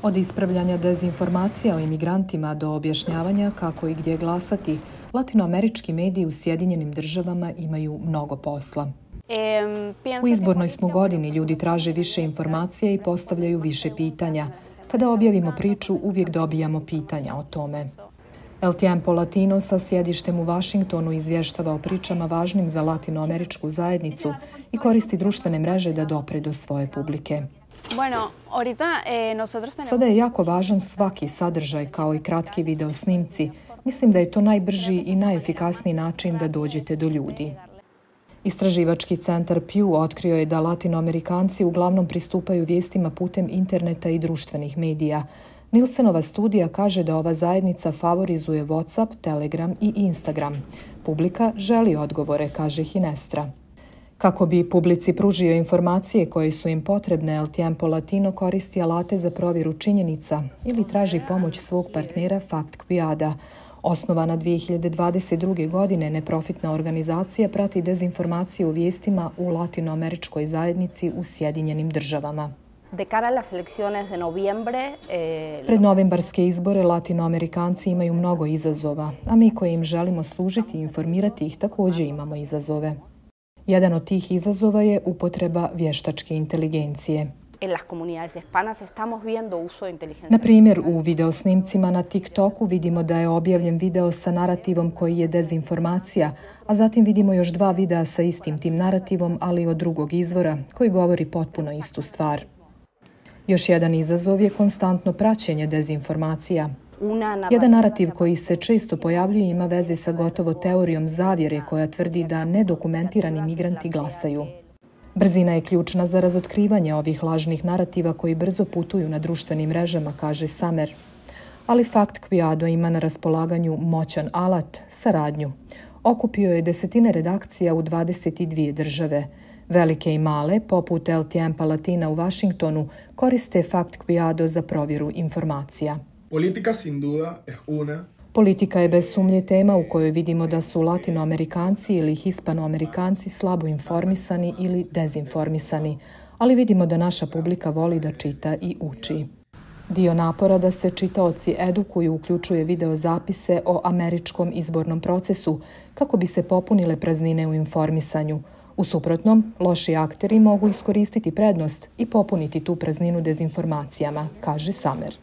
Od ispravljanja dezinformacija o imigrantima do objašnjavanja kako i gdje glasati, latinoamerički mediji u Sjedinjenim Državama imaju mnogo posla. U izbornoj smo godini, ljudi traže više informacija i postavljaju više pitanja. Kada objavimo priču, uvijek dobijamo pitanja o tome. El Tiempo Latino sa sjedištem u Vašingtonu izvještava o pričama važnim za latinoameričku zajednicu i koristi društvene mreže da dopre do svoje publike. Sada je jako važan svaki sadržaj kao i kratki video snimci. Mislim da je to najbrži i najefikasniji način da dođete do ljudi. Istraživački centar Pew otkrio je da latinoamerikanci uglavnom pristupaju vijestima putem interneta i društvenih medija. Nilsenova studija kaže da ova zajednica favorizuje WhatsApp, Telegram i Instagram. Publika želi odgovore, kaže Hinestra. Kako bi publici pružio informacije koje su im potrebne, El Tiempo Latino koristi alate za provjeru činjenica ili traži pomoć svog partnera Fact Quiada. Osnovana 2022. godine, neprofitna organizacija prati dezinformacije u vijestima u latinoameričkoj zajednici u Sjedinjenim Državama. Pred novembarske izbore latinoamerikanci imaju mnogo izazova, a mi koji im želimo služiti i informirati ih također imamo izazove. Jedan od tih izazova je upotreba vještačke inteligencije. Na primjer, u videosnimcima na TikToku vidimo da je objavljen video sa narativom koji je dezinformacija, a zatim vidimo još 2 videa sa istim tim narativom, ali od drugog izvora, koji govori potpuno istu stvar. Još jedan izazov je konstantno praćenje dezinformacija. Jedan narativ koji se često pojavljuje ima veze sa gotovo teorijom zavjere koja tvrdi da nedokumentirani migranti glasaju. Brzina je ključna za razotkrivanje ovih lažnih narativa koji brzo putuju na društvenim mrežama, kaže Samer. Ali Fact Quiado ima na raspolaganju moćan alat, saradnju. Okupio je desetine redakcija u 22 države. Velike i male, poput El Tiempo Latina u Vašingtonu, koriste Fact Quiado za provjeru informacija. Politika je bez sumnje tema u kojoj vidimo da su latinoamerikanci ili hispanoamerikanci slabo informisani ili dezinformisani, ali vidimo da naša publika voli da čita i uči. Dio napora da se čitaoci edukuju uključuje video zapise o američkom izbornom procesu kako bi se popunile praznine u informisanju. U suprotnom, loši akteri mogu iskoristiti prednost i popuniti tu prazninu dezinformacijama, kaže Samer.